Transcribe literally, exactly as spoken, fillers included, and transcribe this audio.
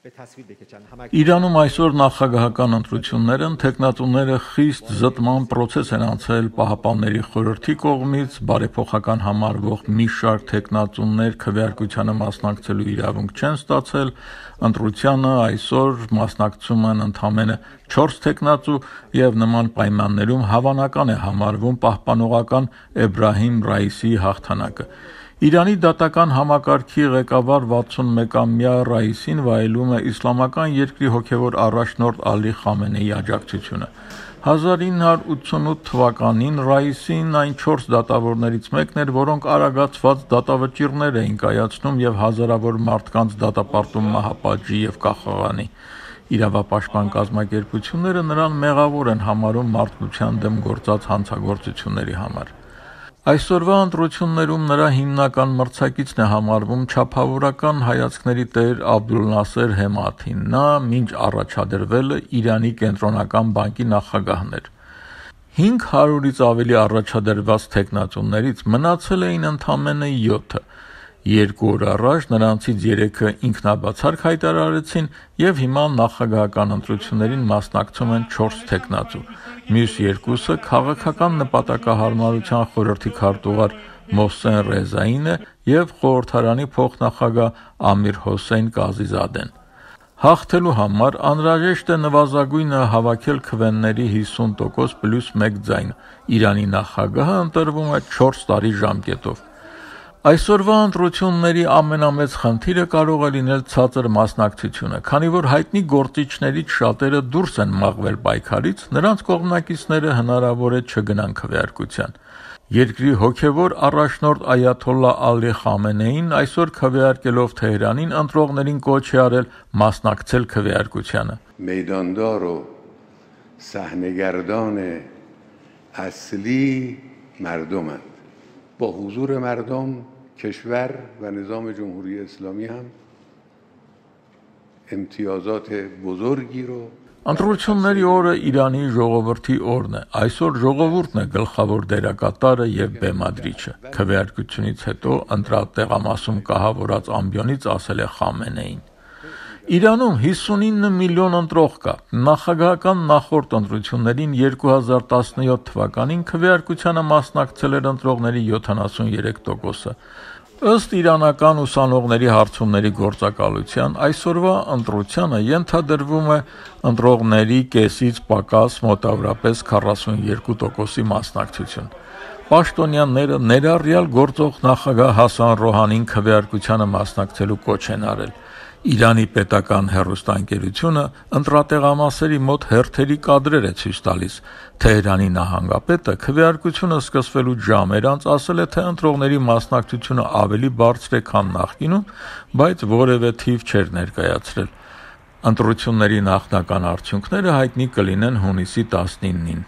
Իրանում այսօր նախագահական ընտրություններն թեկնածուները խիստ զտման պրոցես են անցել Պահապանների խորհրդի կողմից, բարեփոխական համարվող մի շարք թեկնածուներ քվեարկությանը մասնակցելու իրավունք չեն ստացել, ընտրությանը այսօր մասնակցում են ընդամենը չորս թեկնածու եւ նման պայմաններում հավանական է համարվում պահպանողական Էբրահիմ Ռայիսիի հաղթանակը։ Իրանի դատական համակարգի ղեկավար վաթսունմեկամյա Ռայիսին վայելում է իսլամական երկրի հոգևոր առաջնորդ Ալի Խամենեիի աջակցությունը։ հազար ինը հարյուր ութսունութ թվականին Ռայիսին այն չորս դատավորներից մեկն էր, որոնք արագացված դատավճիռներ էին կայացնում եւ հազարավոր մարդկանց դատապարտում մահապատժի եւ կախաղանի։ Իրավապաշտպան կազմակերպությունները նրան մեղավոր են համարում մարդկության դեմ գործած հանցագործությունների համար։ Այսօրվա ընտրություններում նրա հիմնական մրցակիցն է համարվում չափավորական հայացքների տեր Աբդուլնասեր Հեմաթին, նա մինչ առաջադրվելը Իրանի կենտրոնական բանկի նախագահն էր։ հինգ հարյուրից ավելի առաջադրված թեկնածուներից մնացել էին ընդամենը յոթը։ Երկու օր առաջ նրանցից երեքը ինքնաբացարկ հայտարարեցին եւ հիմա նախագահական ընտրություններին մասնակցում են չորս թեկնածու։ Մյուս երկուսը քաղաքական նպատակահարմարության խորհրդի քարտուղար Մոհսեն Ռեզային է եւ խորհրդարանի փոխնախագահ Ամիր Հոսեյն Կազիզադեն։ Հաղթելու համար անհրաժեշտ է նվազագույնը հավաքել քվեների հիսուն տոկոս պլյուս մեկ ձայն։ Իրանի նախագահը ընտրվում է չորս տարի ժամկետով։ Այսօրվա ընտրությունների ամենամեծ խնդիրը կարող է լինել ցածր մասնակցությունը, քանի որ հայտնի գործիչներից շատերը դուրս են մաղվել պայքարից, նրանց կողմնակիցները հնարավոր է չգնան քվեարկության։ Երկրի հոգևոր առաջնորդ Այաթոլլա Ալի Խամենեին այսօր քվեարկելով Թեհրանին ընտրողներին կոչ է արել մասնակցել քվեարկությանը։ میداندار و صحنه‌گردان اصلی مردمند. با حضور مردم کشور و نظام جمهوری اسلامی هم امتیازات بزرگی رو Ընտրությունների օրը Իրանի ժողովրդի օրն է։ Այսօր ժողովուրդն է գլխավոր դերակատարը եւ բեմադրիչը։ Քվեարկությունից հետո ընտրատեղամասում կահավորած ամբիոնից ասել է Խամենեին։ Իրանում հիսունինը միլիոն ընտրող կա։ Նախագահական նախորդ ընտրություններին երկու հազար տասնյոթ թվականին քվեարկությանը մասնակցել էր ընտրողների յոթանասուներեք տոկոսը։ Ըստ իրանական ուսանողների հարցումների գործակալության այսօրվա ընտրությանը ենթադրվում է ընտրողների կեսից պակաս մոտավորապես քառասունյոթ տոկոսի մասնակցություն։ Պաշտոնյաները ներառյալ գործող նախագահ Հասան Ռոհանին քվեարկությանը մասնակցելու կոչ են արել։ Իրանի պետական հեռուստաընկերությունը ընտրատեղամասերի մոտ հերթերի կադրեր է ցույց տալիս։ Թեհրանի նահանգապետը քվեարկությունը սկսվելուց ժամեր անց ասել է, թե ընտրողների մասնակցությունը ավելի բարձր է, քան նախկինում, բայց որևէ թիվ չէր ներկայացրել։ Ընտրությունների նախնական արդյունքները հայտնի կլինեն հունիսի տասնինին։